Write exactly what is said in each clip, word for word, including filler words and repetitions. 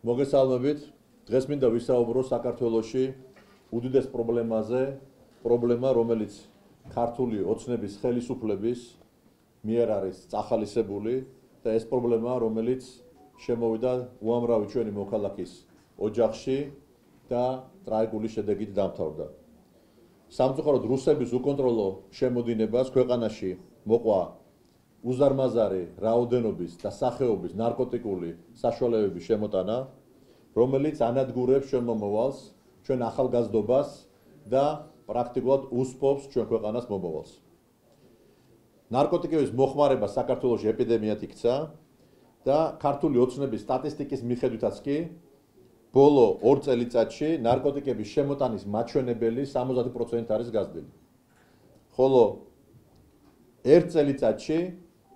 მოგესალმებით. დღეს მინდა ვისაუბრო საქართველოში უდიდეს პრობლემაზე, პრობლემა, რომელიც ქართული ოცნების ხელისუფლების მიერ არის წახალისებული და ეს პრობლემა, რომელიც შემოვიდა უამრავი ჩვენი მოქალაქის ოჯახში და ტრაგიკული შედეგით დამთავრდა. სამწუხაროდ რუსების უკონტროლო შემოდინებას ქვეყანაში მოყვა უზარმაზარი რაოდენობის და სახეობის ნარკოტიკული საშუალებების შემოტანა, რომელიც ანადგურებს ჩვენ მომავალს, ჩვენ ახალგაზრდობას და პრაქტიკულად უსპობს ჩვენ ქვეყანას მომავალს. ნარკოტიკების მოხმარება საქართველოში ეპიდემიად იქცა და ქართული ოცნების სტატისტიკის მიხედვითაც კი ბოლო ორ წელიწადში ნარკოტიკების შემოტანის მაჩვენებელი სამოცდაათი პროცენტი არის გაზრდილი. ხოლო ერთ წელიწადში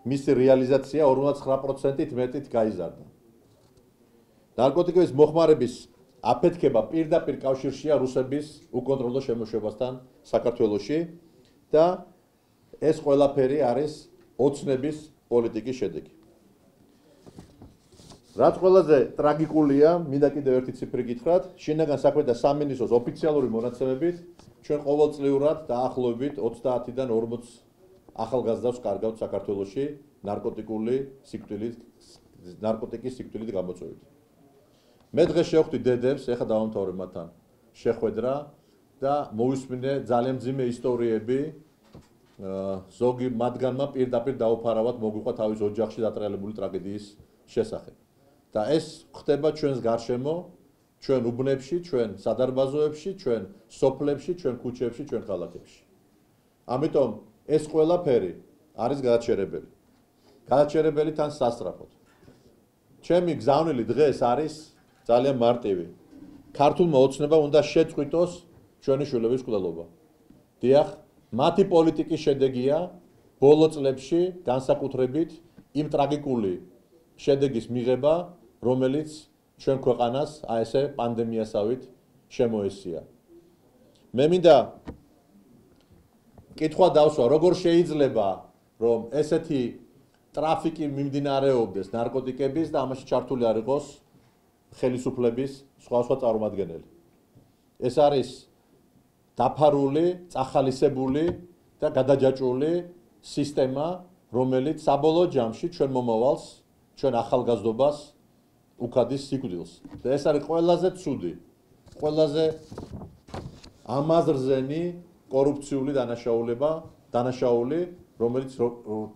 მისი რეალიზაცია ორმოცდათხმეტ პროცენტით მეტით გაიზარდა. ნარკოტიკების მოხმარების აფეთქება პირდაპირ კავშირშია რუსების უკონტროლო შემოშვებასთან საქართველოში და ეს ყველაფერი არის ოცნების პოლიტიკის შედეგი. რაც ყველაზე ტრაგიკულია, მინდა კიდევ ერთი ციფრი გითხრათ, შინაგან საქმეთა სამინისტროს ოფიციალური მონაცემებით ჩვენ ყოველწლიურად დაახლოებით ოცდაათიდან ორმოც ახალგაზრდას კარგავთ საქართველოში ნარკოტიკული სიკვდილით, ნარკოტიკის სიკვდილით გამოწვევით. მე დღეს შევხვდი დედებს, ეხლა დავამთავრე მათთან შეხვედრა და მოვისმინე ძალიან მძიმე ისტორიები, ზოგი მათგანმა პირდაპირ დაუფარავად მოგვიყვა თავის ოჯახში დატრიალებული ტრაგედიის შესახებ. და ეს ხდება ჩვენს გარშემო, ჩვენ უბნებში, ჩვენ სადარბაზოებში, ჩვენ სოფლებში, ჩვენ ქუჩებში, ჩვენ ქალაქებში. ამიტომ ეს ყველაფერი არის გადაჩერებელი. გადაჩერებელი თან სასწრაფოდ. ჩემი გზავნილი დღეს არის ძალიან მარტივი. ქართულმა ოცნებამ უნდა შეწყვიტოს ჩვენი შვილების მკვლელობა. დიახ, მათი პოლიტიკის შედეგია ბოლო წლებში განსაკუთრებით იმ ტრაგიკული შედეგის მიღება, რომელიც ჩვენ ქვეყანას აი ესე პანდემიასავით შემოესია. მე მინდა კითხვა დავსვა, როგორ შეიძლება რომ ესეთი ტრაფიკი მიმდინარეობდეს ნარკოტიკების და ამაში ჩართული არ იყოს ხელისუფლების სხვადასხვა წარმომადგენელი. ეს არის დაფარული, წახალისებული და გადაჯაჭვული სისტემა, რომელიც საბოლოო ჯამში ჩვენ მომავალს, ჩვენ ახალგაზრდობას უქადის სიკვდილს. და ეს არის ყველაზე ცუდი, ყველაზე ამაზრზენი კორუფციული დანაშაულება, დანაშაული, რომელიც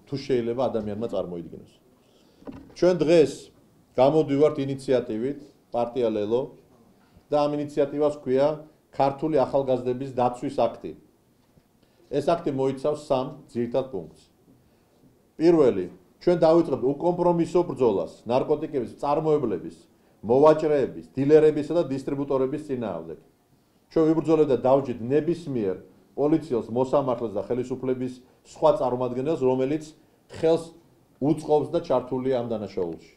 თუ შეიძლება ადამიანმა წარმოიდგინოს. ჩვენ დღეს გამოდივართ ინიციატივით პარტია ლელო და ამ ინიციატივას ჰქვია ქართული ახალგაზრდების დაცვის აქტი. ეს აქტი მოიცავს სამ ძირითად პუნქტს. პირველი, ჩვენ დავიწყებთ უკომპრომისო ბრძოლას ნარკოტიკების მწარმოებლების, მოვაჭრეების, დილერებისა და დისტრიბუტორების წინააღმდეგ. ჩვენ ვიბრძოლებთ და დავჯით ნებისმიერ პოლიციელს, მოსამართლეს და ხელისუფლების სხვა წარმომადგენელს, რომელიც ხელს უწყობს და ჩართულია ამ დანაშაულში.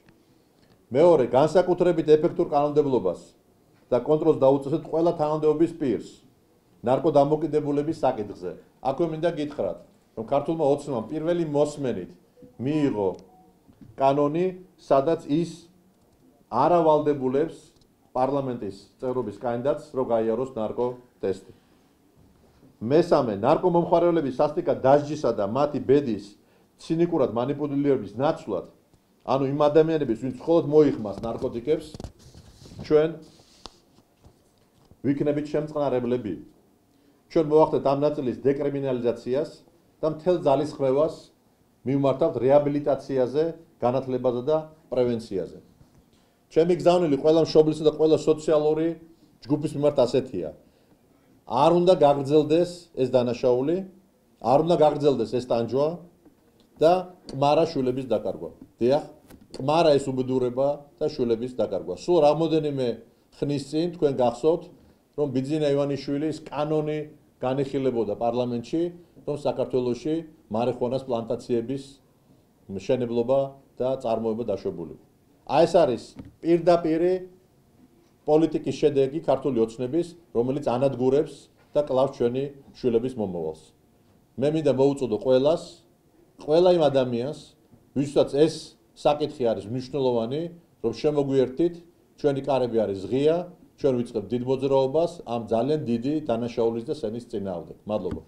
მეორე, განსაკუთრებით ეფექტურ კანონმდებლობას და კონტროლს დაუწესებთ ყველა თანამდებობის პირს ნარკოდამოკიდებულების საკითხზე. აქვე მინდა გითხრათ, რომ ქართულმა ოცნებამ პირველი მოსმენით მიიღო კანონი, სადაც ის არ ავალდებულებს პარლამენტის წევრობის კანდიდატს, რომ გაიაროს ნარკოტესტი. მესამე, ნარკომომხმარებლების სასტიკად დასჯისა და მათი ბედის ცინიკურად მანიპულირების ნაცვლად, ანუ იმ ადამიანების, ვინც მხოლოდ მოიხმას ნარკოტიკებს, ჩვენ ვიქნებით შემწყნარებლები. ჩვენ მოვახდეთ ამ ნაწილის დეკრიმინალიზაციას და მთელ ძალისხმევას მივმართავთ რეაბილიტაციაზე, განათლებაზე და პრევენციაზე. ჩემი გზავნილი ყველა მშობლისა და ყველა სოციალური ჯგუფის მიმართ ასეთია. არ უნდა გაგრძელდეს ეს დანაშაული, არ უნდა გაგრძელდეს ეს ტანჯვა და კმარა შვილების დაკარგვა. დიახ, კმარა ეს უბედურება და შვილების დაკარგვა. სულ რამოდენიმე ხნის წინ თქვენ გახსოვთ, რომ ბიძინა ივანიშვილის კანონი განიხილებოდა პარლამენტში, რომ საქართველოში მარიხუანას პლანტაციების მშენებლობა და წარმოება დაშვებული. აი ეს არის პირდაპირი პოლიტიკის შედეგი ქართული ოცნების, რომელიც ანადგურებს და კლავს ჩვენი შვილების მომავალს. მე მინდა მოვუწოდო ყველას, ყველა იმ ადამიანს, ვისაც ეს საკითხი არის მნიშვნელოვანი, რომ შემოგვიერთდით ჩვენი კარები არის ღია, ჩვენ ვიწყებთ დიდ მოძრაობას ამ ძალიან დიდი დანაშაულის და სენის წინააღმდეგ. მადლობა.